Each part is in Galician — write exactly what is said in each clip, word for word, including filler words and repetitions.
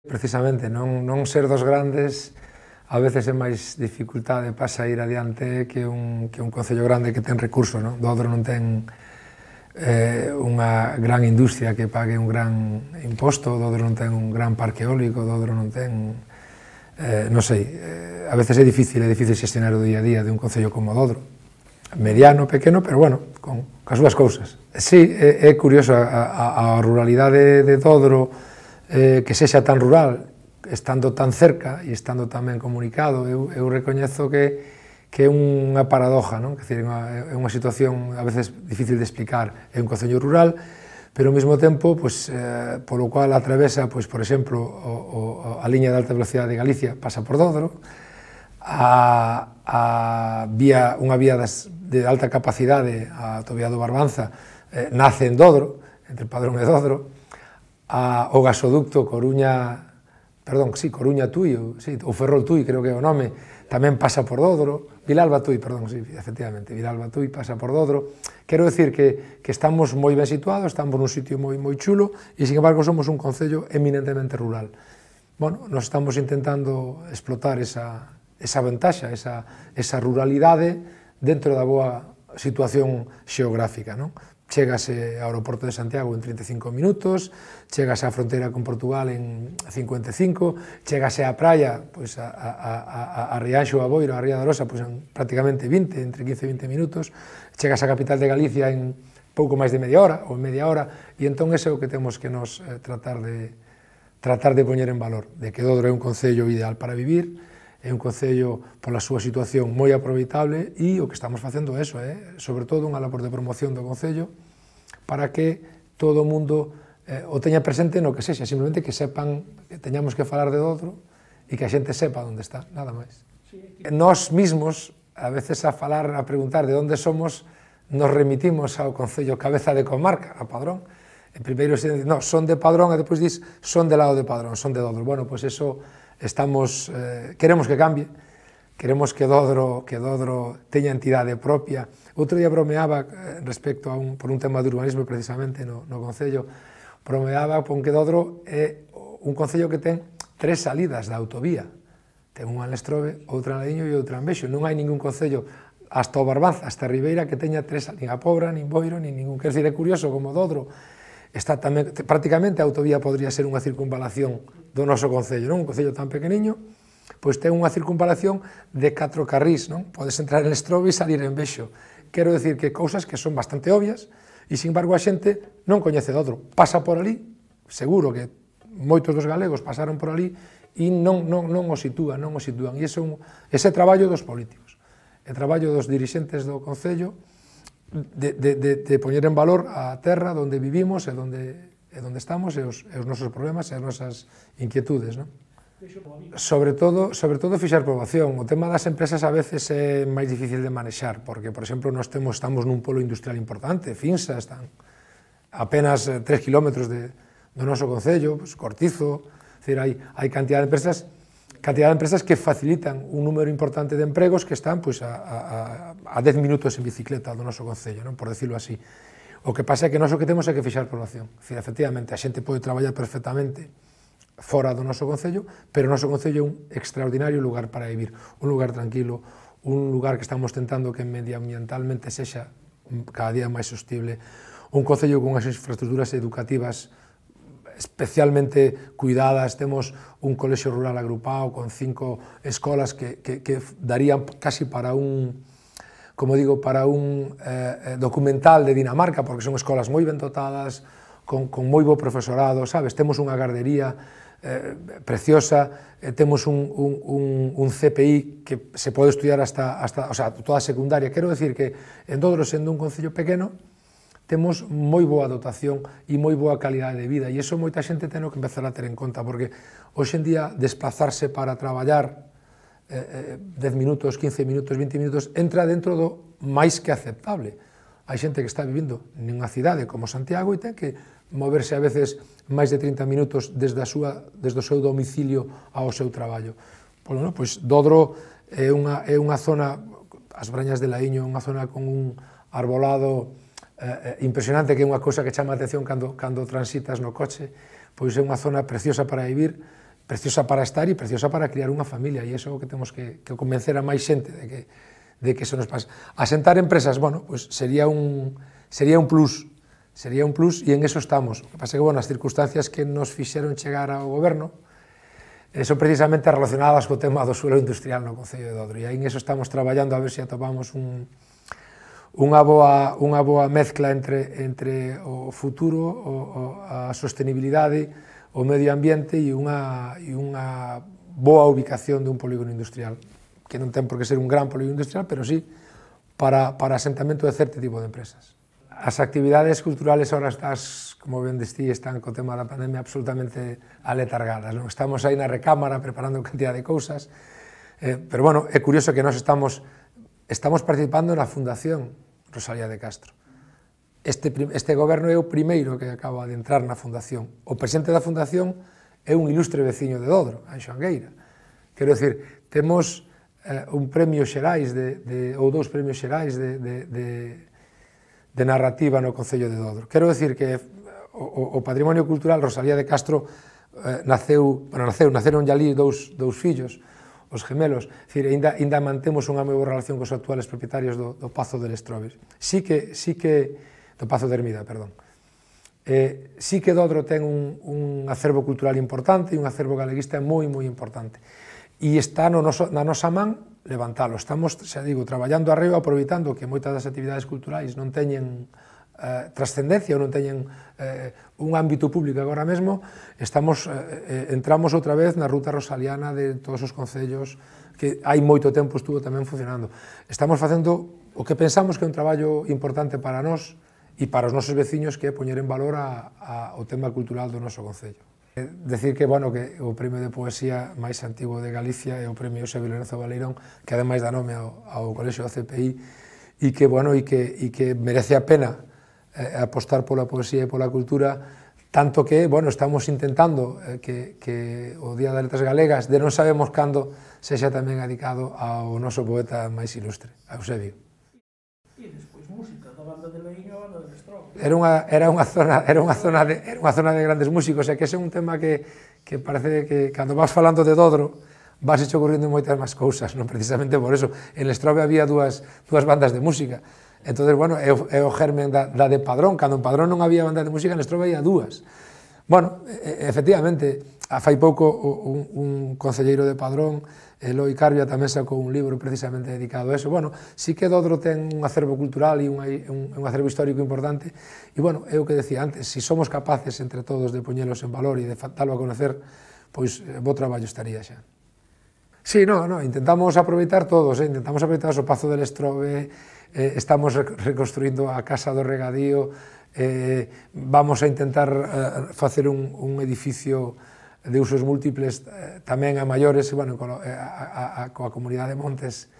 Precisamente, non, non ser dos grandes a veces é máis dificultade para sair adiante que un, que un concello grande que ten recursos, non? Dodro non ten eh, unha gran industria que pague un gran imposto, Dodro non ten un gran parque eólico, Dodro non ten, eh, non sei, eh, a veces é difícil, é difícil xestionar o día a día de un concello como Dodro, mediano, pequeno, pero bueno, con, con as súas cousas. Sí, é, é curioso, a, a, a ruralidade de Dodro, eh, que sexa tan rural, estando tan cerca e estando tan ben comunicado, eu, eu recoñezo que, que é unha paradoja, non? Que decir, é unha situación a veces difícil de explicar, é un concello rural, pero ao mesmo tempo, pues, eh, polo cual atravesa, pues, por exemplo, o, o, a liña de alta velocidade de Galicia pasa por Dodro, a, a vía, unha vía das, de alta capacidade, a autovía do Barbanza, eh, nace en Dodro, entre Padrón e Dodro, a, o gasoducto Coruña, perdón, sí, Coruña-Tui, sí, ou Ferrol-Tui, creo que é o nome, tamén pasa por Dodro, Vilalba-Tui, perdón, sí, efectivamente, Vilalba-Tui pasa por Dodro. Quero decir que, que estamos moi ben situados, estamos nun sitio moi, moi chulo, e, sin embargo, somos un concello eminentemente rural. Bueno, nos estamos intentando explotar esa, esa ventaxa, esa, esa ruralidade dentro da boa situación xeográfica, non? Chégase ao aeroporto de Santiago en trinta e cinco minutos, chégase á fronteira con Portugal en cincuenta e cinco, chégase á praia, pois, a, a, a, a Rianxo, a Boiro, a Ría da Arosa, pois, en prácticamente vinte, entre quince e vinte minutos, chégase á capital de Galicia en pouco máis de media hora, ou media hora, e entón ese é o que temos que nos eh, tratar de tratar de poñer en valor, de que Dodro é un concello ideal para vivir, é un concello pola súa situación moi aproveitable, e o que estamos facendo é eso, eh? sobre todo unha labor de promoción do concello para que todo o mundo eh, o teña presente no que sexa, simplemente que sepan que teñamos que falar de Dodro e que a xente sepa onde está, nada máis. Nós mismos, a veces a falar, a preguntar de onde somos, nos remitimos ao concello cabeza de comarca, a Padrón. En primeiro se dice, no, son de Padrón, e depois dis, son de lado de Padrón, son de Dodro. Bueno, pois eso estamos, eh, queremos que cambie, queremos que Dodro, que Dodro teña entidade propia. Outro día bromeaba eh, respecto a un, por un tema de urbanismo precisamente no, no concello, bromeaba con que Dodro é un concello que ten tres salidas da autovía. Ten unha en Lestrobe, outra en Ladiño e outra en Bexo. Non hai ningún concello hasta o Barbanza, hasta Ribeira, que teña tres, nin a Pobra, nin Boiro, nin ningún. Quer dizer, é curioso como Dodro está tamén, prácticamente a autovía podría ser unha circunvalación do noso concello, non? Un concello tan pequeniño, pois ten unha circunvalación de catro carrís, non? Podes entrar en Lestrobe e salir en Bexo. Quero decir que cousas que son bastante obvias, e, sin embargo, a xente non coñece Dodro. Pasa por ali, seguro que moitos dos galegos pasaron por ali, e non, non, non o sitúan, non o sitúan. E ese, un, ese traballo dos políticos, é traballo dos dirixentes do concello, de, de, de, de poñer en valor a terra onde vivimos, e onde, e onde estamos, e os, e os nosos problemas, e as nosas inquietudes, non? Sobre todo, sobre todo fixar poboación. O tema das empresas a veces é máis difícil de manexar, porque, por exemplo, nós temos, estamos nun polo industrial importante, Finsa, están apenas tres kilómetros de, do noso concello, pues, Cortizo, decir, hai, hai cantidad de empresas, cantidad de empresas que facilitan un número importante de empregos que están, pues, a, a, a dez minutos en bicicleta do noso concello, non? Por decirlo así. O que pasa é que nós o que temos é que fixar poboación. Decir, efectivamente, a xente pode traballar perfectamente fora do noso concello, pero o noso concello é un extraordinario lugar para vivir, un lugar tranquilo, un lugar que estamos tentando que medioambientalmente sexa cada día máis sostible, un concello con as infraestructuras educativas especialmente cuidadas, temos un colexio rural agrupado con cinco escolas que, que, que darían casi para un, como digo, para un eh, documental de Dinamarca, porque son escolas moi ben dotadas, con, con moi bo profesorado, sabes? Temos unha gardería eh, preciosa, eh, temos un, un, un, un C P I que se pode estudiar hasta, hasta, o sea, toda a secundaria. Quero decir que en Dodro, sendo un concello pequeno, temos moi boa dotación e moi boa calidade de vida, e iso moita xente ten que empezar a ter en conta, porque hoxe en día desplazarse para traballar eh, dez minutos, quince minutos, vinte minutos, entra dentro do máis que aceptable. Hai xente que está vivindo nunha cidade como Santiago e ten que moverse a veces máis de trinta minutos desde, a súa, desde o seu domicilio ao seu traballo. Bueno, pois Dodro é unha, é unha zona, as Brañas de Laíño, é unha zona con un arbolado eh, impresionante, que é unha cousa que chama a atención cando, cando transitas no coche, pois é unha zona preciosa para vivir, preciosa para estar e preciosa para criar unha familia, e iso é o que temos que, que convencer a máis xente de que, de que eso nos pasa. Asentar empresas, bueno, pues sería un, sería un plus, sería un plus, e en eso estamos. O que pasa é que, bueno, as circunstancias que nos fixeron chegar ao goberno eh, son precisamente relacionadas co tema do suelo industrial no Concello de Dodro, e aí en eso estamos traballando a ver se atopamos un, unha, boa, unha boa mezcla entre, entre o futuro, o, o, a sostenibilidade, o medio ambiente e unha, e unha boa ubicación de un polígono industrial, que non ten por que ser un gran polígono industrial, pero sí para, para asentamento de certo tipo de empresas. As actividades culturales ahora estás, como ben destí, están co tema da pandemia absolutamente aletargadas, non? Estamos aí na recámara preparando cantidad de cousas, eh, pero bueno, é curioso que nós estamos, estamos participando na Fundación Rosalía de Castro. Este, este goberno é o primeiro que acaba de entrar na Fundación. O presidente da Fundación é un ilustre veciño de Dodro, Anxo Angueira. Quero dicir, temos eh, un premio xerais, de, de, ou dous premios xerais de, de, de de narrativa no Concello de Dodro. Quero decir que o, o patrimonio cultural, Rosalía de Castro, eh, naceu, bueno, naceu, naceron ali dous, dous fillos, os gemelos, decir, ainda, ainda mantemos unha moi boa relación cos actuales propietarios do, do Pazo de Lestroves. Sí que, sí que, do Pazo de Hermida, perdón. Eh, sí que Dodro ten un, un acervo cultural importante e un acervo galeguista moi, moi importante. E está no noso, na nosa man levantalo. Estamos, xa digo, traballando arriba, aproveitando que moitas das actividades culturais non teñen eh, trascendencia ou non teñen eh, un ámbito público agora mesmo, estamos, eh, entramos outra vez na ruta rosaliana de todos os concellos que hai moito tempo estuvo tamén funcionando. Estamos facendo o que pensamos que é un traballo importante para nós e para os nosos veciños, que é poñer en valor a, a, o tema cultural do noso concello. Decir que, bueno, que o premio de poesía máis antigo de Galicia é o premio Eusebio Lorenzo Baleirón, que ademais dá nome ao, ao Colexio da C P I, e que, bueno, e que, e que merece a pena eh, apostar pola poesía e pola cultura, tanto que, bueno, estamos intentando eh, que, que o Día das Letras Galegas, de non sabemos cando, sexa tamén dedicado ao noso poeta máis ilustre, a Eusebio. E despois música, da banda de Leíño a banda de Lestrobe. Era unha, era unha zona, era unha zona de, era unha zona de grandes músicos, e que ese é un tema que, que parece que cando vas falando de Dodro vas hecho ocurrindo moitas máis cousas, non precisamente por eso. En Lestrobe había dúas, dúas bandas de música, entonces, bueno, é o, é o germen da, da de Padrón. Cando en Padrón non había banda de música, en Lestrobe había dúas. Bueno, efectivamente, fai pouco un, un concelleiro de Padrón, Eloi Carbia, tamén sacou un libro precisamente dedicado a eso. Bueno, sí que Dodro ten un acervo cultural e un, un, un acervo histórico importante, e, bueno, é o que decía antes, se si somos capaces entre todos de poñelos en valor e de dalo a conocer, pois bo traballo estaría xa. Sí, no, no, intentamos aproveitar todos, eh? intentamos aproveitar o Pazo de Lestrobe, eh, estamos reconstruindo a Casa do Regadío, eh, vamos a intentar eh, facer un, un edificio de usos múltiples eh, tamén a maiores, bueno, a, a, a, coa comunidade de Montes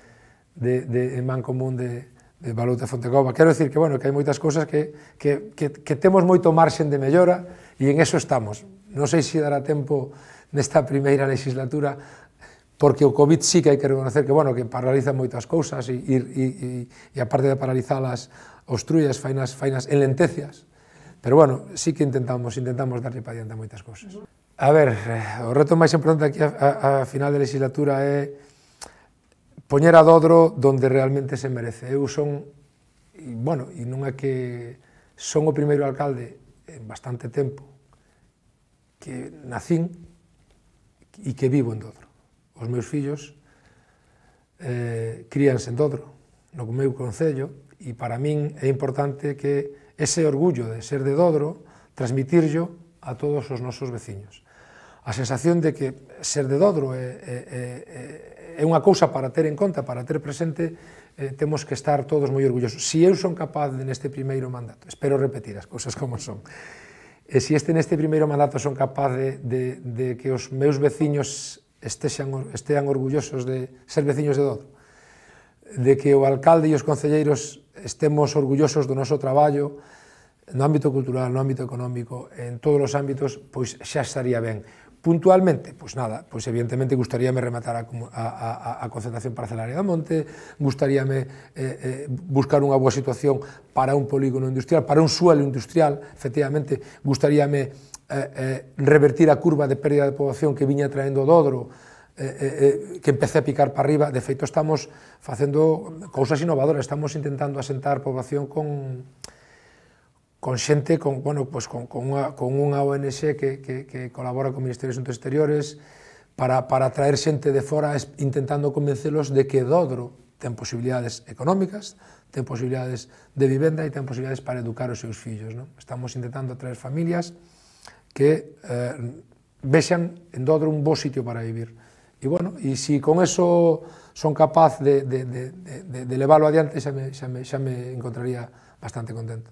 de, de, en Mancomún de, de Balouta e Fontecova. Quero dicir que, bueno, que hai moitas cousas que, que, que, que temos moito marxen de mellora, e en eso estamos. Non sei se dará tempo nesta primeira legislatura, porque o COVID sí que hai que reconocer que, bueno, que paraliza moitas cousas, e, e, e, e aparte de paralizalas, obstruyas, fainas, fainas enlentecias. Pero, bueno, sí que intentamos, intentamos darlle para diante a moitas cousas. A ver, o reto máis importante aquí a, a, a final de legislatura é poñer a Dodro donde realmente se merece. Eu son, e, bueno, e non é que son o primeiro alcalde en bastante tempo que nacín e que vivo en Dodro. Os meus fillos eh, críanse en Dodro, no meu concello, e para min é importante que ese orgullo de ser de Dodro transmitirlo a todos os nosos veciños. A sensación de que ser de Dodro é, é, é, é unha cousa para ter en conta, para ter presente, eh, temos que estar todos moi orgullosos. Si eu son capaz de neste primeiro mandato, espero repetir as cousas como son, e si este neste primeiro mandato son capaz de, de, de que os meus veciños estexan, estean orgullosos de ser veciños de Dodro, de que o alcalde e os concelleiros estemos orgullosos do noso traballo, no ámbito cultural, no ámbito económico, en todos os ámbitos, pois xa estaría ben. Puntualmente, pois nada, pois evidentemente gustaríame rematar a, a, a, a concentración parcelaria da Monte, gustaríame eh, eh, buscar unha boa situación para un polígono industrial, para un suelo industrial, efectivamente, gustaríame eh, eh, revertir a curva de pérdida de poboación que viña traendo o Dodro, eh, eh, que empece a picar para arriba. De feito, estamos facendo cousas innovadoras, estamos intentando asentar poboación con con xente, con, bueno, pues con, con, unha, con unha O N G que, que, que colabora con o Ministerio de Asuntos Exteriores para, para traer xente de fora intentando convencelos de que Dodro ten posibilidades económicas, ten posibilidades de vivenda e ten posibilidades para educar os seus fillos, non? Estamos intentando traer familias que eh, vexan en Dodro un bo sitio para vivir. E, bueno, e se con eso son capaz de, de, de, de, de leválo adiante, xa me, xa, me, xa me encontraría bastante contento.